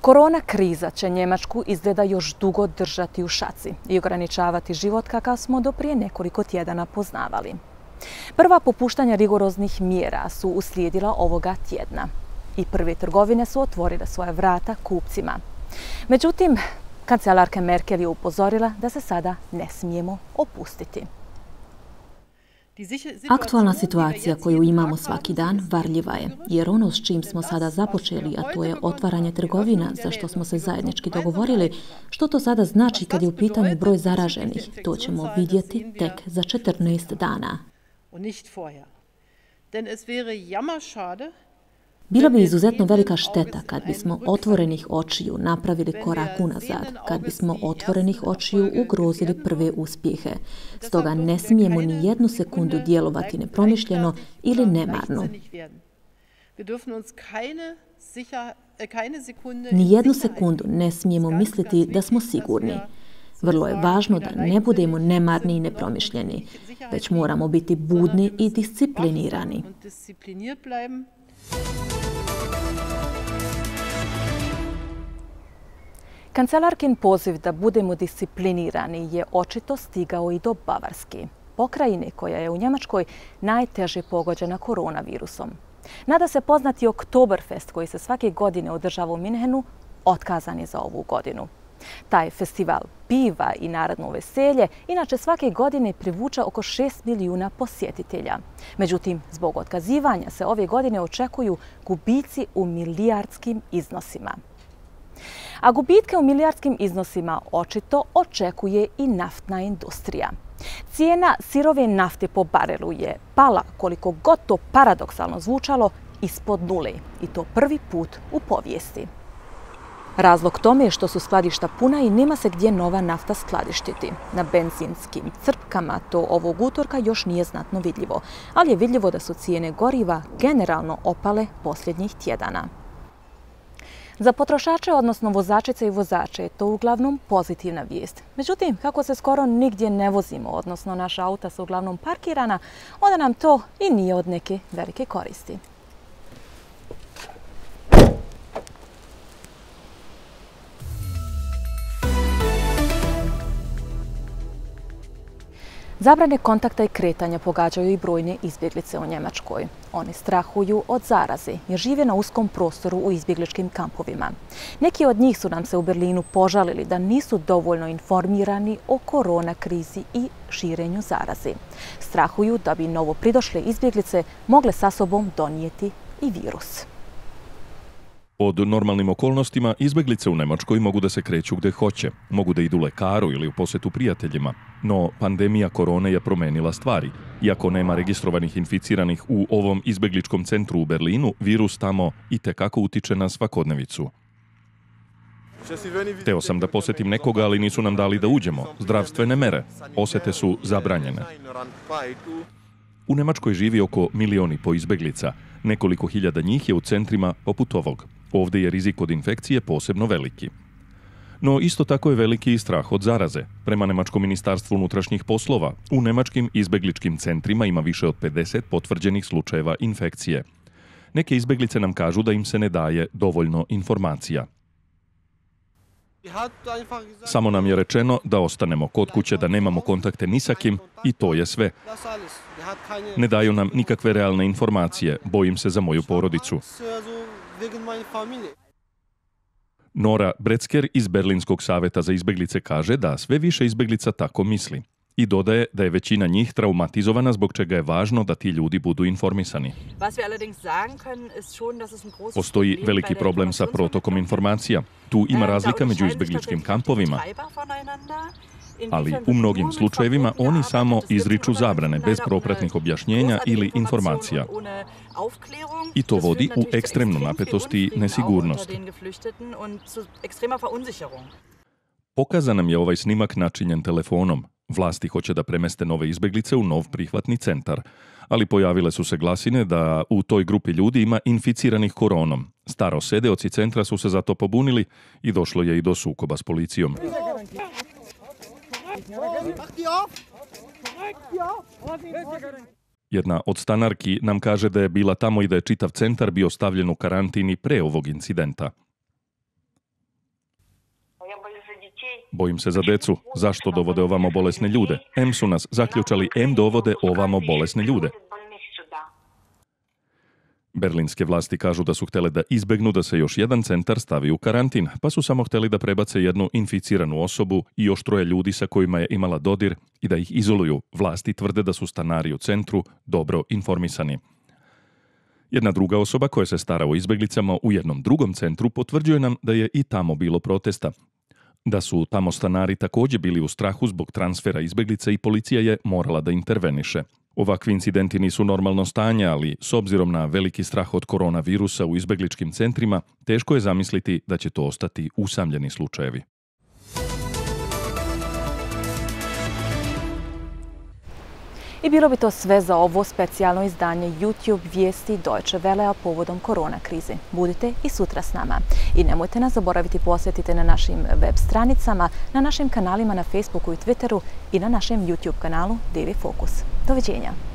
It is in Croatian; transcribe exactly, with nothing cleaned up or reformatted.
Korona kriza će Njemačku izgleda još dugo držati u šaci i ograničavati život kakav smo do prije nekoliko tjedana poznavali. Prva popuštanja rigoroznih mjera su uslijedila ovoga tjedna i prve trgovine su otvorile svoja vrata kupcima. Međutim, kancelarka Merkel je upozorila da se sada ne smijemo opustiti. Aktualna situacija koju imamo svaki dan varljiva je, jer ono s čim smo sada započeli, a to je otvaranje trgovina, za što smo se zajednički dogovorili, što to sada znači kad je u pitanju broj zaraženih, to ćemo vidjeti tek za četrnaest dana. Bila bi izuzetno velika šteta kad bismo otvorenih očiju napravili korak unazad, kad bismo otvorenih očiju ugrozili prve uspjehe. Stoga ne smijemo ni jednu sekundu djelovati nepromišljeno ili nemarno. Ni jednu sekundu ne smijemo misliti da smo sigurni. Vrlo je važno da ne budemo nemarni i nepromišljeni, već moramo biti budni i disciplinirani. Kancelarkin poziv da budemo disciplinirani je očito stigao i do Bavarske, pokrajine koja je u Njemačkoj najteže pogođena koronavirusom. Nada se poznati Oktoberfest koji se svake godine održava u Minhenu otkazan je za ovu godinu. Taj festival piva i narodno veselje inače svake godine privuča oko šest milijuna posjetitelja. Međutim, zbog otkazivanja se ove godine očekuju gubici u milijardskim iznosima. A gubitke u milijardskim iznosima očito očekuje i naftna industrija. Cijena sirove nafte po barelu je pala, koliko god to paradoksalno zvučalo, ispod nule i to prvi put u povijesti. Razlog tome je što su skladišta puna i nema se gdje nova nafta skladištiti. Na benzinskim crpkama to ovog utorka još nije znatno vidljivo, ali je vidljivo da su cijene goriva generalno opale posljednjih tjedana. Za potrošače, odnosno vozačice i vozače, je to uglavnom pozitivna vijest. Međutim, kako se skoro nigdje ne vozimo, odnosno naša auta su uglavnom parkirana, onda nam to i nije od neke velike koristi. Zabrane kontakta i kretanja pogađaju i brojne izbjeglice u Njemačkoj. Oni strahuju od zaraze jer žive na uskom prostoru u izbjegličkim kampovima. Neki od njih su nam se u Berlinu požalili da nisu dovoljno informirani o korona krizi i širenju zaraze. Strahuju da bi novo pridošle izbjeglice mogle sa sobom donijeti i virus. Pod normalnim okolnostima izbjeglice u Njemačkoj mogu da se kreću gdje hoće, mogu da idu lekaru ili u posjetu prijateljima, no pandemija korone je promenila stvari. Iako nema registrovanih inficiranih u ovom izbjegličkom centru u Berlinu, virus tamo itekako utiče na svakodnevicu. Hteo sam da posjetim nekoga, ali nisu nam dali da uđemo. Zdravstvene mere, posjete su zabranjene. U Njemačkoj živi oko milion i po izbjeglica. Nekoliko hiljada njih je u centrima poput ovog. Ovdje je rizik od infekcije posebno veliki. No isto tako je veliki i strah od zaraze. Prema Njemačkom ministarstvu unutrašnjih poslova, u njemačkim izbjegličkim centrima ima više od pedeset potvrđenih slučajeva infekcije. Neke izbjeglice nam kažu da im se ne daje dovoljno informacija. Samo nam je rečeno da ostanemo kod kuće, da nemamo kontakte ni sa kim i to je sve. Ne daju nam nikakve realne informacije, bojim se za moju porodicu. Nora Bretzker iz Berlinskog savjeta za izbjeglice kaže da sve više izbjeglica tako misli. I dodaje da je većina njih traumatizovana, zbog čega je važno da ti ljudi budu informisani. Postoji veliki problem sa protokom informacija. Tu ima razlika među izbjegličkim kampovima, ali u mnogim slučajevima oni samo izriču zabrane bez propratnih objašnjenja ili informacija. I to vodi u ekstremnu napetost i nesigurnost. Pokazan nam je ovaj snimak načinjen telefonom. Vlasti hoće da premeste nove izbjeglice u nov prihvatni centar, ali pojavile su se glasine da u toj grupi ljudi ima inficiranih koronom. Starosedeoci centra su se zato pobunili i došlo je i do sukoba s policijom. Jedna od stanarki nam kaže da je bila tamo i da je čitav centar bio stavljen u karantini pre ovog incidenta. Bojim se za decu. Zašto dovode ovamo bolesne ljude? Em su nas zaključali, em dovode ovamo bolesne ljude. Berlinske vlasti kažu da su htjele da izbegnu da se još jedan centar stavi u karantin, pa su samo htjeli da prebace jednu inficiranu osobu i još troje ljudi sa kojima je imala dodir i da ih izoluju. Vlasti tvrde da su stanari u centru dobro informisani. Jedna druga osoba koja se stara o izbeglicama u jednom drugom centru potvrđuje nam da je i tamo bilo protesta. Da su tamo stanari također bili u strahu zbog transfera izbeglica i policija je morala da interveniše. Ovakvi incidenti nisu normalno stanje, ali s obzirom na veliki strah od koronavirusa u izbegličkim centrima, teško je zamisliti da će to ostati usamljeni slučajevi. I bilo bi to sve za ovo specijalno izdanje YouTube vijesti Deutsche Wellea povodom korona krize. Budite i sutra s nama. I nemojte nas zaboraviti posjetiti na našim web stranicama, na našim kanalima na Facebooku i Twitteru i na našem YouTube kanalu D V Fokus. Doviđenja!